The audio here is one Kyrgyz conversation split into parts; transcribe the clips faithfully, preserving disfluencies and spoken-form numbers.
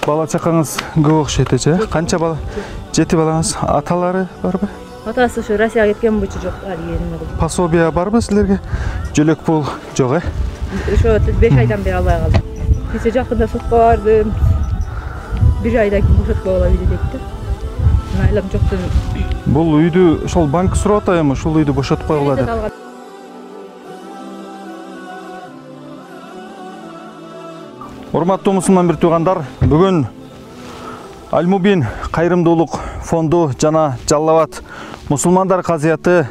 бала чакаңыз көп окшойт эже. Канча бала? Жети балаңыз. Аталары барбы? Атасы ошо Россияга кеткен бойчу жок, арыгенин кылып. Пособия барбы силерге? Жөлөк пул жок, э? Ошо беш айдан бери албай калдым. Кече жакында сотко бардым. бир айдан кийин бошотпой кала бери депти. Айлам жоктун. Бул үйдү ошол банк сурап атайбы, ушул үйдү бошотпой кала деп. Урматтуу мусулман бир туугандар, бүгүн Аль-Мубин кайрымдуулук фонду жана Жалал Абад мусулмандар казыяты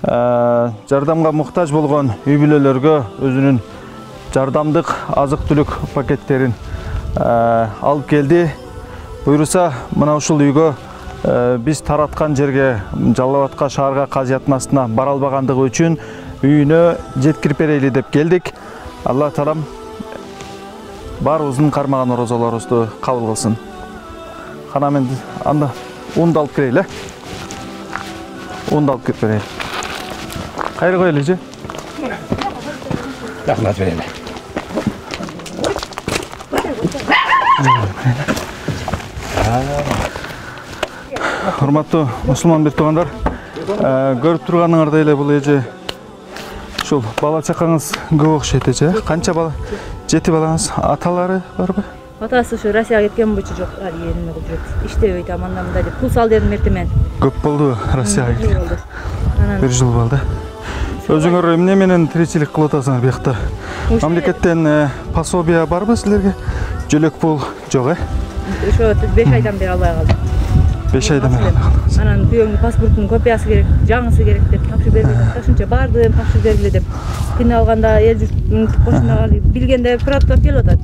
жардамга муктаж болгон үй бүлөлөргө өзүнүн жардамдык азык-түлүк пакеттерин алып келди. Буйруса, мына ушул үйгө биз тараткан жерге, Жалал Абадка, шаарга казыяттын астына бара албагандыгы үчүн үйүнө жеткирип берели деп келдик. Алла таалам баарыбыздын кармаган орозолорубузду кабыл кылсын. Кана мен анда унду алып кирейли, э? Унду алып кирип берейли. Кайра коелу же? Рахмат берели. Урматтуу мусулман бир туугандар, көрүп турганыңардай эле бул эже ушул бала чакаңыз көп окшойт эже. Канча бала? Жети балаңыз. Аталары барбы? Атасы ошо Россияга кеткен бойчу жок, арыгенин кылып жүрөт. Иштебей таманда мындай деп пул сал дедим эртемен. Көп болду Россияга кеткен. Бир жыл болду. Өзүңөр эмне менен тиричилик кылып атасыңар биякта? Мамлекеттен пособия барбы силерге? Жөлөк пул жок, э? Ошо беш айдан бери албай калдым. беш айдан бери албай калдым. Анан күйөөмдүн паспортунун копиясы керек, жаңысы керек деп тапшырып берди. Ошончо бардым, тапшырып бергиле деп. Күнү алганда эл журттун кошуналары билгенде проптап келип атат.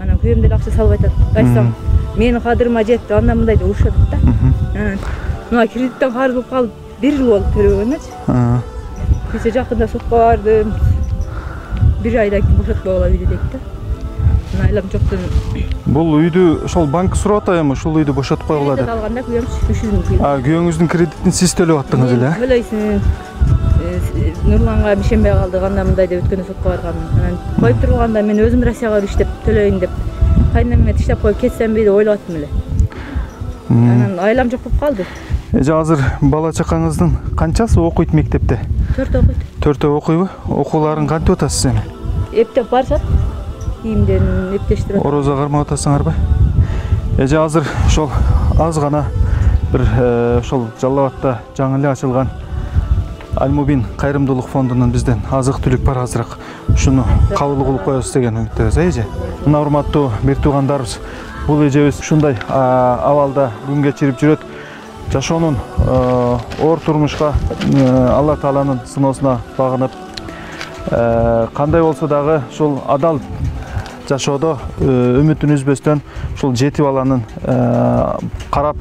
Анан күйөөм деле акча салбай атат. Айтсам, менин кадырыма жетти, анда мындай деп урушат да. Анан мына кредиттен карыз болуп калып, бир жыл болду төлөгөнүчү. Кече жакында сотко бардым. бир айдан кийин бошотпой кала бери депти. Айлам жоктун. Бул үйдү ошол банк сурап атайбы, ушул үйдү бошотпой кала деп. Алганда күйөөм үч жүз миң. А, күйөөңүздүн кредитин сиз төлөп аттыңыз эле, э? Төлөйсүн. Нурланга бишенбей калдык, анда мындай деп өткөндө сотко барганмын. Анан коюп турганда мен өзүм Россияга иштеп төлөйүн деп, кайнам иштеп коюп кетсемби деп ойлоп аттым эле. Анан айлам жок болуп калды. Эже азыр бала чакаңыздын канчасы окуйт мектепте? Төртөө окуйт. Төртөө окуйбу? Окууларын кантип атасыз эми? Эптеп барышат. Кийимден эптештирип. Орозо кармап атасыңарбы? Эже азыр ошол аз гана бир ошол Жалал Абадта жаңы эле ачылган Аль-Мубин кайрымдуулук фондунун бизден азык-түлүк бар азыраак. Ушуну кабыл кылып коебуз деген үмүттөбүз, эже. Мына урматтуу бир туугандарыбыз, бул эжебиз ушундай абалда күн кечирип жүрөт. Жашоонун оор турмушка Алла Тааланын сыноосуна багынып, кандай болсо дагы ушул адал жашоодо үмүтүн үзбөстөн ушул жети баланын карап,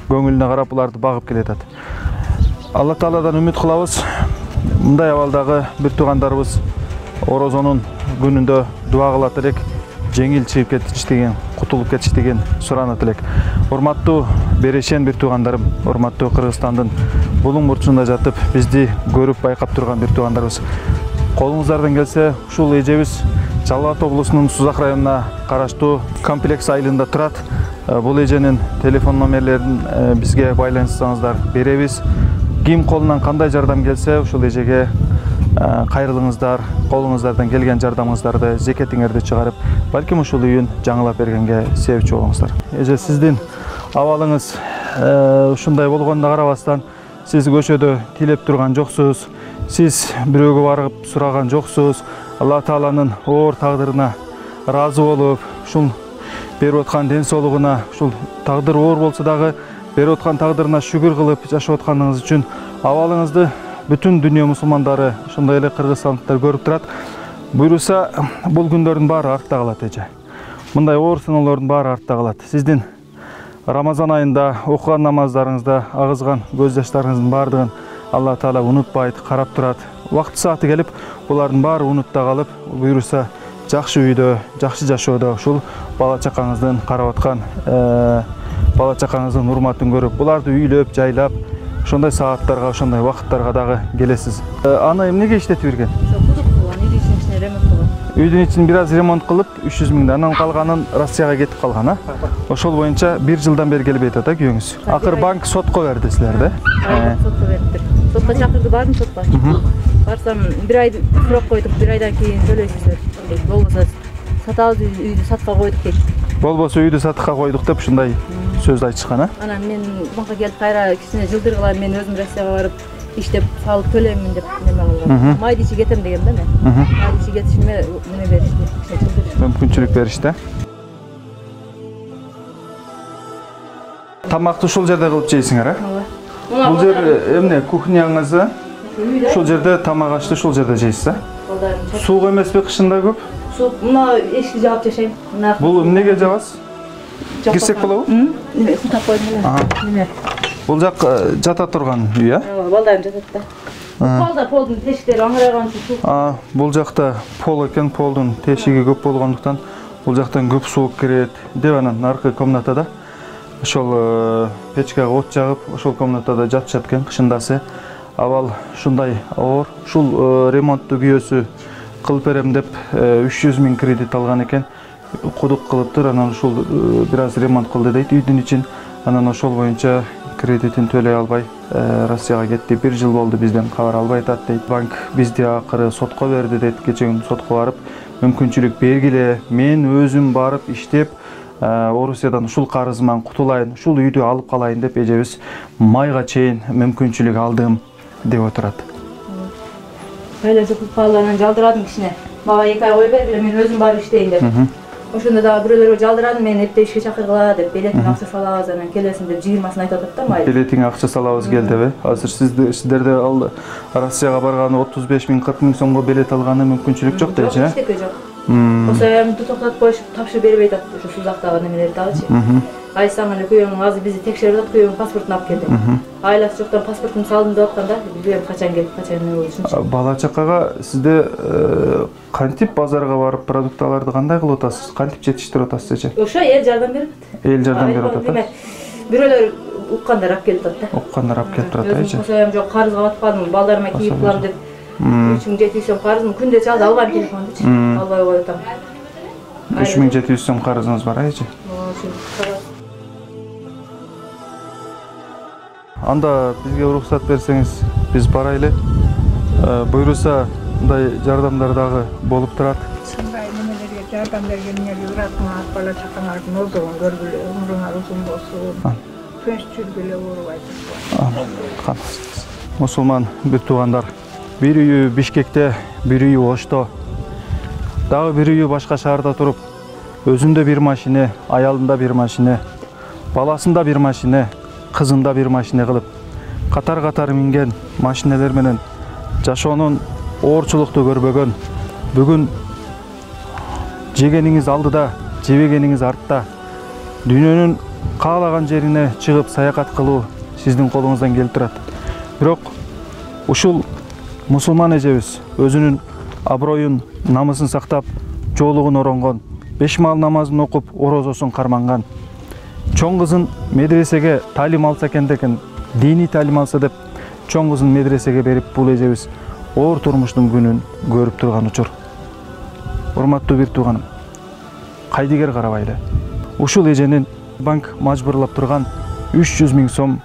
көңүлүнө карап буларды багып келатат. Алла Тааладан үмүт кылабыз. Мындай абалдагы бир туугандарыбыз орозонун күнүндө дуа кылат элек, жеңил чыгып кетиш деген, кутулуп кетиш деген суранат элек. Урматтуу берешен бир туугандарым, урматтуу Кыргызстандын булуң бурчунда жатып, бизди көрүп байкап турган бир туугандарыбыз. Колуңуздардан келсе, ушул эжебиз Жалал Абад облусунун Сузак районуна караштуу комплекс айылында турат. Бул эженин телефон номерлерин бизге байланышсаңыздар беребиз. Ким колунан кандай жардам келсе, ушул эжеге кайрылыңыздар, колуңуздардан келген жардамыңыздарды, зекетиңерди чыгарып, балким ушул үйүн жаңылап бергенге себепчи болуңуздар. Эже, сиздин абалыңыз ушундай болгонуна карабастан, сиз көчөдө тилеп турган жоксуз, сиз бирөөгө барып сураган жоксуз. Алла Тааланын оор тагдырына ыраазы болуп, ушул берип аткан ден соолугуна, ушул тагдыр оор болсо дагы берип аткан тагдырына шүгүр кылып жашап атканыңыз үчүн абалыңызды бүтүн дүйнө мусулмандары, ошондой эле кыргызстандыктар көрүп турат. Буйруса, бул күндөрдүн баары артта калат, эже. Мындай оор сыноолордун баары артта калат. Сиздин Рамазан айында окуган намаздарыңызда агызган көз жаштарыңыздын баардыгын Алла Таала унутпайт, карап турат. Вакыт сааты келип, булардын баары унутта калып, буйруса жакшы үйдө, жакшы жашоодо ушул бала чакаңыздын карап аткан, бала чакаңыздын урматын көрүп, буларды үйлөп, жайлап, ошондой сааттарга, ошондой вакыттарга дагы келесиз. Аны эмнеге иштетип берген? Кудук кылган, ирисин ремонт кылган. үйдүн ичин бир аз ремонт кылып үч жүз миңден, анан калганын Россияга кетип калган, а? Ошол боюнча бир жылдан бери келбей атат, а күйөөңүз? Акыр банк сотко берди силерди? Сотко бериптир. Сотко чакырды, бардым сотко. Барсам бир ай сурап койдук, бир айдан кийин төлөйсүздөр дейт. Болбосо сатабыз үйдү сатка койдук дейт. Болбосо үйдү сатка койдук деп ушундай сөз айтышкан, а? Анан мен банкка келип кайра кичине жылдыргыла, мен өзүм Россияга барып иштеп салып төлөймүн деп неме кылгам. Майда ичи кетем дегем да мен. Майда ичи кетишиме неме беришти, мүмкүнчүлүк беришти. Тамакты ушул жерде кылып жейсиңер, а? Ооба. Бул жер эмне, кухняңыз? Ушул жерде тамак ашты, ушул жерде жейсиз, а? Суук эмеспи кышында көп? Суук, мына эшикти жаап жашайм. Бул эмнеге жабасыз? Кирсек болобу? Неме, суу таппайм эле. Неме? Бул жак жата турган үй, а? Ооба, балдарым жатат да. Полда, полдун тешиктери аңырайган үчүн суу. Бул жакта пол экен, полдун тешиги көп болгондуктан бул жактан көп суук кирет. Деп анан наркы комнатада ошол печкага от жагып, ошол комнатада жатышат экен кышындасы. Абал ушундай оор. Ушул ремонтту күйөөсү кылып берем деп үч жүз миң кредит алган экен. Кудук кылыптыр, анан ушул бир аз ремонт кылды дейт үйдүн ичин. Анан ошол боюнча кредитин төлөй албай Россияга кетти. Бир жыл болду, бизден кабар албай атат дейт. Банк бизди акыры сотко берди дейт. Кече күнү сотко барып, мүмкүнчүлүк бергиле, мен өзүм барып иштеп Орусиядан ушул карызыман кутулайын, ушул үйдү алып калайын деп эжебиз майга чейин мүмкүнчүлүк алдым деп отурат. Кайла жокуп калганын жалдырадым кичине. Мага эки ай кой бергиле, мен өзүм барып иштейин деп. Ошондо дагы бирөөлөргө жалдырадым, мен эптеп ишке чакыргыла деп, билетиң акча салабыз, анан келесиң деп жыйырмасын айтып атат да май. Билетиң акча салабыз кел деп, азыр сиздерде ал Россияга барганы отуз беш миң кырк миң сомго билет алганы мүмкүнчүлүк жок дейчи, э? Жок, жок. Осоямды токтотуп коюшуп, тапшырып бербей атат ошо сузактагы немелерди дагычы. Айсаң эле күйөөң азыр бизди текшерип атат, күйөөң паспортун алып кел деп. Айласы жоктон паспортумду салдым деп аткан да, билбейм качан келип, качан эмне болду ушунча. Бала чакага сизде кантип базарга барып продукталарды кандай кылып атасыз? Кантип жетиштирип атасыз эже? Ошо эл жардам берип атат. Эл жардам берип атат. Бирөөлөр уккандар алып келип атат да. Уккандар алып келип турат эже. Осоям жок, карызга батып калдым, балдарыма кийип кылам деп. үч миң жети жүз сом карызым, күндө чалды, албайм телефондучу. Албай коюп атам. үч миң жети жүз сом карызыңыз бар, эже? Анда бизге уруксат берсеңиз, биз барайлы. Буйруса, мындай жардамдар дагы болуп турат. Ушундай немелерге жардам бергениңерге рахмат, бала чакаңардын озугун көргүлө, өмүрүңөр узун болсун. Тынч жүргүлө, урубайсыз. Мусулман бир туугандар, бир үйү Бишкекте, бир үйү Ошто, дагы бир үйү башка шаарда туруп, өзүндө бир машине, аялында бир машине, баласында бир машине, кызында бир машине кылып, катар-катар минген машинелер менен жашоонун оорчулукту көрбөгөн, бүгүн жегениңиз алдыда, жебегениңиз артта, дүйнөнүн каалаган жерине чыгып саякат кылуу сиздин колуңуздан келип турат. Бирок ушул мусулман эжебиз өзүнүн аброюн, намысын сактап, жоолугун оронгон, беш маал намазын окуп, орозосун карманган. Чоң кызын медресеге талим алса экен деген, диний талим алса деп, чоң кызын медресеге берип, бул эжебиз оор турмуштун күнүн көрүп турган учур. Урматтуу бир тууганым, кайдыгер карабайлы. Ушул эженин банк мажбурлап турган үч жүз миң сом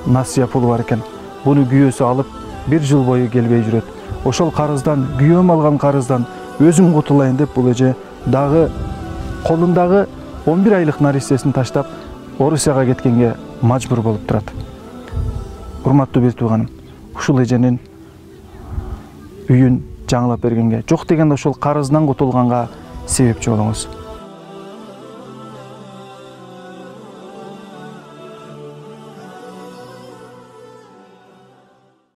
насыя пулу бар экен. Буну күйөөсү алып, бир жыл бою келбей жүрөт. Ошол карыздан, күйөөм алган карыздан өзүм кутулайын деп бул эже дагы колундагы он бир айлык нарисесин таштап Орусияга кеткенге мажбур болуп турат. Урматтуу бир тууганым, ушул эженин үйүн жаңылап бергенге, жок дегенде ошол карыздан кутулганга себепчи болуңуз.